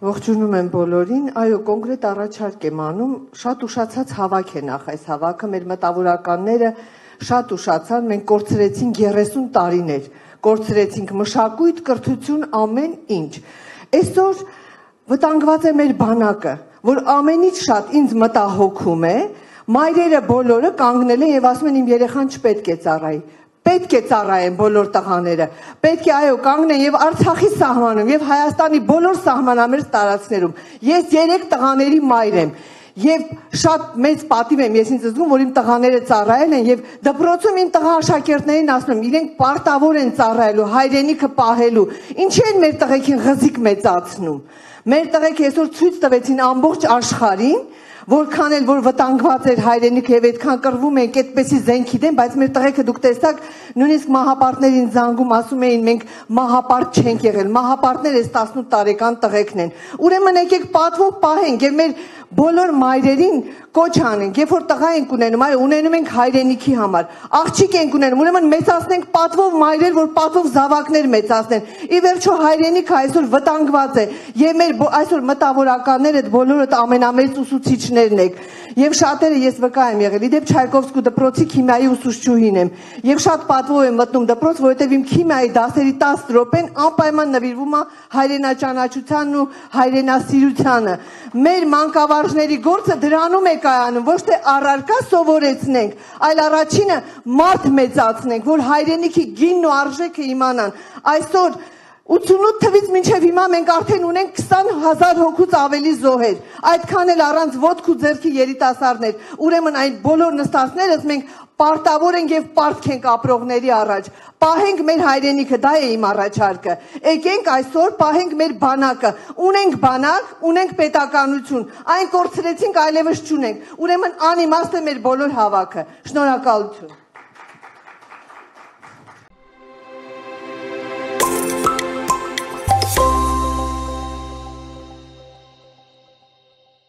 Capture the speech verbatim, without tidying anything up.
Ողջունում եմ բոլորին, այո, կոնկրետ առաջարկ եմ անում, շատ ուշացած հավաք է նախ այս հավաքը, մեր մտավորականները շատ ուշացան, մենք կորցրեցինք երեսուն տարիներ, կորցրեցինք մշակույթ, կրթություն, ամեն ինչ։ Այսօր վտանգված է մեր բանակը, որ ամենից շատ ինձ մտահոգում է, մայրերը բոլորը կանգնել են եւ ասում են իմ երեխան չպետք է ծառայի։ Պետք է ծառայեն բոլոր տղաները, պետք է այո կանգնեն եւ Արցախի սահմանում եւ Հայաստանի բոլոր սահմանամերձ տարածքներում։ Ես երեք տղաների մայր եմ եւ շատ մեծ պատիվ եմ ես ինձ զգում, որ իմ տղաները ծառայել են եւ դպրոցում իմ տղա աշակերտներին ասում եմ, իրենք պարտավոր են ծառայելու, հայրենիքը պահելու։ Ինչի են մեր տղեկին ղզիկ մեծացնում։ Մեր տղեկ այսօր ցույց տվեցին ամբողջ աշխարհին, որքան էլ որ վտանգված էր հայրենիքը եւ այդքան կռվում ենք այդպեսի զենքի դեմ, բայց մեր տղեկը դուք տեսաք, նույնիսկ մահապարտներին զանգում ասում էին մենք մահապարտ չենք եղել, մահապարտները այս տասնութ տարեկան տղեկն են։ Ուրեմն եկեք պատվով պահենք եւ մեր բոլոր մայրերին կոչ անենք, երբ որ տղա ենք ունենում, այո, ունենում ենք հայրենիքի համար, աղջիկ ենք ունենում, ուրեմն մեծացնենք պատվով մայրեր, որ պատվով զավակներ մեծացնեն։ Ի վերջո հայրենիքը այսօր վտանգված է եւ մեր այսօր մտավորականները բոլորդ ամենամեծ ուսուցիչներն եք։ Եվ շատերը ես վկա եմ եղել, իդեպ Չայկովսկու դպրոցի քիմիայի ուսուցչուհին եմ եւ շատ պատվով եմ մտնում դպրոց, որովհետեւ իմ քիմիայի դասերի տասը րոպեն անպայման նվիրվում է հայրենաճանաչությանն ու հայրենասիրությանը։ Մեր մանկավարժների գործը դրանում է կայանում, ոչ թե առարկա սովորեցնենք, այլ առաջինը մարդ մեծացնենք, որ հայրենիքի գինն ու արժեքը իմանան։ Այսօր ութանասուն թվից մինչև հիմա մենք արդեն ունենք քսան հազար հոգուց ավելի զոհեր, այդքան էլ առանց ոտք ու ձեռքի երիտասարդներ, ուրեմն այն բոլոր նստածներս մենք պարտավոր ենք եւ պարտք ենք ապրողների առաջ, պահենք մեր հայրենիքը, դա է իմ առաջարկը, եկենք այսօր պահենք մեր բանակը, ունենք բանակ, ունենք պետականություն, այն կորցրեցինք, այլևս չունենք, ուրեմն անիմաստ է մեր բոլոր հավաքը, շնորհակալություն։